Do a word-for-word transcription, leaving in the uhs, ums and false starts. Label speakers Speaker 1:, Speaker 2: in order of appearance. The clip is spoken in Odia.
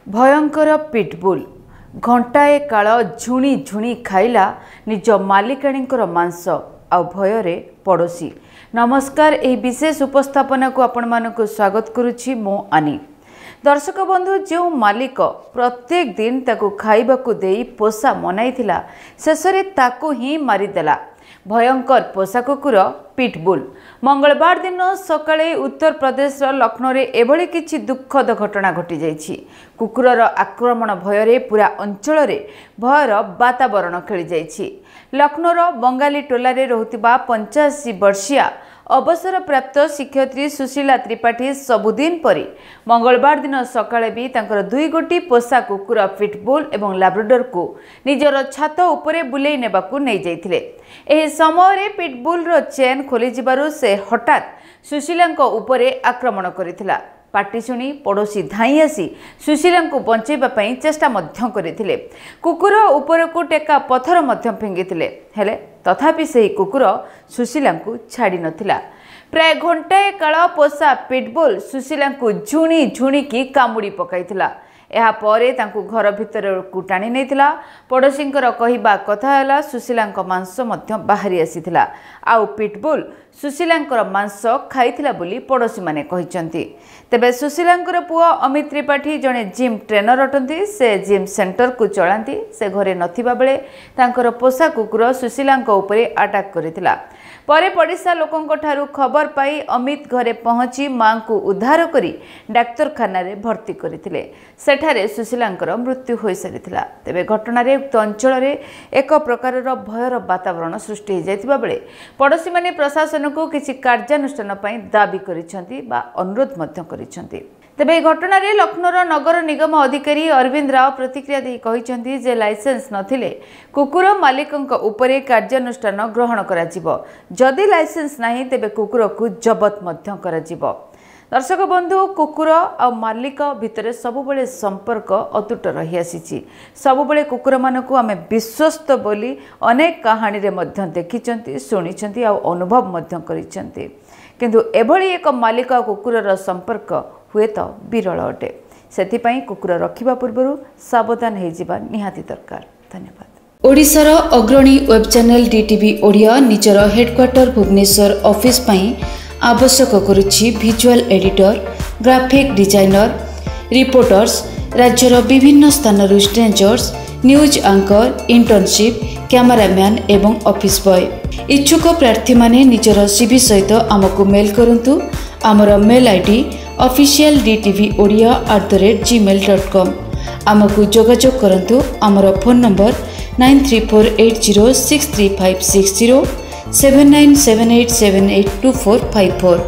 Speaker 1: ଭୟଙ୍କର ପିଟବୁଲ୍ ଘଣ୍ଟାଏ କାଳ ଝୁଣି ଝୁଣି ଖାଇଲା ନିଜ ମାଲିକାଣୀଙ୍କର ମାଂସ, ଆଉ ଭୟରେ ପଡ଼ୋଶୀ। ନମସ୍କାର, ଏହି ବିଶେଷ ଉପସ୍ଥାପନାକୁ ଆପଣମାନଙ୍କୁ ସ୍ୱାଗତ କରୁଛି ମୁଁ ଆନି। ଦର୍ଶକ ବନ୍ଧୁ, ଯେଉଁ ମାଲିକ ପ୍ରତ୍ୟେକ ଦିନ ତାକୁ ଖାଇବାକୁ ଦେଇ ପୋଷା ମନାଇଥିଲା, ଶେଷରେ ତାକୁ ହିଁ ମାରିଦେଲା ଭୟଙ୍କର ପୋଷା କୁକୁର ପିଟବୁଲ୍। ମଙ୍ଗଳବାର ଦିନ ସକାଳେ ଉତ୍ତରପ୍ରଦେଶର ଲକ୍ଷ୍ନୌରେ ଏଭଳି କିଛି ଦୁଃଖଦ ଘଟଣା ଘଟିଯାଇଛି। କୁକୁରର ଆକ୍ରମଣ ଭୟରେ ପୁରା ଅଞ୍ଚଳରେ ଭୟର ବାତାବରଣ ଖେଳିଯାଇଛି। ଲକ୍ଷ୍ନୌର ବଙ୍ଗାଳୀ ଟୋଲାରେ ରହୁଥିବା ପଞ୍ଚାଅଶୀ ବର୍ଷୀୟା ଅବସରପ୍ରାପ୍ତ ଶିକ୍ଷୟିତ୍ରୀ ସୁଶୀଲା ତ୍ରିପାଠୀ ସବୁଦିନ ପରି ମଙ୍ଗଳବାର ଦିନ ସକାଳେ ବି ତାଙ୍କର ଦୁଇ ଗୋଟି ପୋଷା କୁକୁର ପିଟବୁଲ୍ ଏବଂ ଲାବ୍ରାଡରକୁ ନିଜର ଛାତ ଉପରେ ବୁଲେଇ ନେବାକୁ ନେଇଯାଇଥିଲେ। ଏହି ସମୟରେ ପିଟବୁଲ୍ର ଚେନ୍ ଖୋଲିଯିବାରୁ ସେ ହଠାତ୍ ସୁଶୀଲାଙ୍କ ଉପରେ ଆକ୍ରମଣ କରିଥିଲା। ପାଟି ଶୁଣି ପଡ଼ୋଶୀ ଧାଇଁ ଆସି ସୁଶୀଲାଙ୍କୁ ବଞ୍ଚାଇବା ପାଇଁ ଚେଷ୍ଟା ମଧ୍ୟ କରିଥିଲେ। କୁକୁର ଉପରକୁ ଟେକା ପଥର ମଧ୍ୟ ଫିଙ୍ଗିଥିଲେ, ହେଲେ ତଥାପି ସେହି କୁକୁର ସୁଶୀଲାଙ୍କୁ ଛାଡ଼ି ନଥିଲା। ପ୍ରାୟ ଘଣ୍ଟାଏ କାଳ ପୋଷା ପିଟବୁଲ୍ ସୁଶୀଲାଙ୍କୁ ଝୁଣି ଝୁଣିକି କାମୁଡ଼ି ପକାଇଥିଲା। ଏହାପରେ ତାଙ୍କୁ ଘର ଭିତରକୁ ଟାଣି ନେଇଥିଲା। ପଡ଼ୋଶୀଙ୍କର କହିବା କଥା ହେଲା, ସୁଶୀଲାଙ୍କ ମାଂସ ମଧ୍ୟ ବାହାରି ଆସିଥିଲା, ଆଉ ପିଟବୁଲ୍ ସୁଶୀଲାଙ୍କର ମାଂସ ଖାଇଥିଲା ବୋଲି ପଡ଼ୋଶୀମାନେ କହିଛନ୍ତି। ତେବେ ସୁଶୀଲାଙ୍କର ପୁଅ ଅମିତ ତ୍ରିପାଠୀ ଜଣେ ଜିମ୍ ଟ୍ରେନର ଅଟନ୍ତି। ସେ ଜିମ୍ ସେଣ୍ଟରକୁ ଚଳାନ୍ତି। ସେ ଘରେ ନଥିବା ବେଳେ ତାଙ୍କର ପୋଷା କୁକୁର ସୁଶୀଲାଙ୍କ ଉପରେ ଆଟାକ୍ କରିଥିଲା। ପରେ ପଡ଼ିଶା ଲୋକଙ୍କ ଠାରୁ ଖବର ପାଇ ଅମିତ ଘରେ ପହଞ୍ଚି ମାଙ୍କୁ ଉଦ୍ଧାର କରି ଡାକ୍ତରଖାନାରେ ଭର୍ତ୍ତି କରିଥିଲେ। ସେଠାରେ ସୁଶୀଲାଙ୍କର ମୃତ୍ୟୁ ହୋଇସାରିଥିଲା। ତେବେ ଘଟଣାରେ ଉକ୍ତ ଅଞ୍ଚଳରେ ଏକ ପ୍ରକାରର ଭୟର ବାତାବରଣ ସୃଷ୍ଟି ହୋଇଯାଇଥିବା ବେଳେ ପଡ଼ୋଶୀମାନେ ପ୍ରଶାସନକୁ କିଛି କାର୍ଯ୍ୟାନୁଷ୍ଠାନ ପାଇଁ ଦାବି କରିଛନ୍ତି ବା ଅନୁରୋଧ ମଧ୍ୟ କରିଛନ୍ତି। ତେବେ ଏହି ଘଟଣାରେ ଲକ୍ଷ୍ନୌର ନଗର ନିଗମ ଅଧିକାରୀ ଅରବିନ୍ଦ ରାଓ ପ୍ରତିକ୍ରିୟା ଦେଇ କହିଛନ୍ତି ଯେ ଲାଇସେନ୍ସ ନଥିଲେ କୁକୁର ମାଲିକଙ୍କ ଉପରେ କାର୍ଯ୍ୟାନୁଷ୍ଠାନ ଗ୍ରହଣ କରାଯିବ। ଯଦି ଲାଇସେନ୍ସ ନାହିଁ, ତେବେ କୁକୁରକୁ ଜବତ ମଧ୍ୟ କରାଯିବ। ଦର୍ଶକ ବନ୍ଧୁ, କୁକୁର ଆଉ ମାଲିକ ଭିତରେ ସବୁବେଳେ ସମ୍ପର୍କ ଅତୁଟ ରହିଆସିଛି। ସବୁବେଳେ କୁକୁରମାନଙ୍କୁ ଆମେ ବିଶ୍ୱସ୍ତ ବୋଲି ଅନେକ କାହାଣୀରେ ମଧ୍ୟ ଦେଖିଛନ୍ତି, ଶୁଣିଛନ୍ତି ଆଉ ଅନୁଭବ ମଧ୍ୟ କରିଛନ୍ତି। କିନ୍ତୁ ଏଭଳି ଏକ ମାଲିକ ଆଉ କୁକୁରର ସମ୍ପର୍କ ହୁଏତ ବିରଳ ଅଟେ। ସେଥିପାଇଁ କୁକୁର ରଖିବା ପୂର୍ବରୁ ସାବଧାନ ହୋଇଯିବା ନିହାତି ଦରକାର। ଧନ୍ୟବାଦ।
Speaker 2: ଓଡ଼ିଶାର ଅଗ୍ରଣୀ ୱେବ୍ ଚ୍ୟାନେଲ୍ ଡିଟିଭି ଓଡ଼ିଆ ନିଜର ହେଡ଼କ୍ୱାର୍ଟର ଭୁବନେଶ୍ୱର ଅଫିସ୍ ପାଇଁ ଆବଶ୍ୟକ କରୁଛି visual editor, graphic designer, reporters, ରାଜ୍ୟର ବିଭିନ୍ନ ସ୍ଥାନରୁ strangers, news anchor, internship, cameraman ଏବଂ ଅଫିସ୍ ବୟ। ଇଚ୍ଛୁକ ପ୍ରାର୍ଥୀମାନେ ନିଜର ସିଭି ସହିତ ଆମକୁ ମେଲ୍ କରନ୍ତୁ। ଆମର mail I D official D TV Odia at the rate Gmail dot com. ଆମକୁ ଯୋଗାଯୋଗ କରନ୍ତୁ। ଆମର phone number nine three four eight zero six three five six zero, seven nine seven eight seven eight two four five four.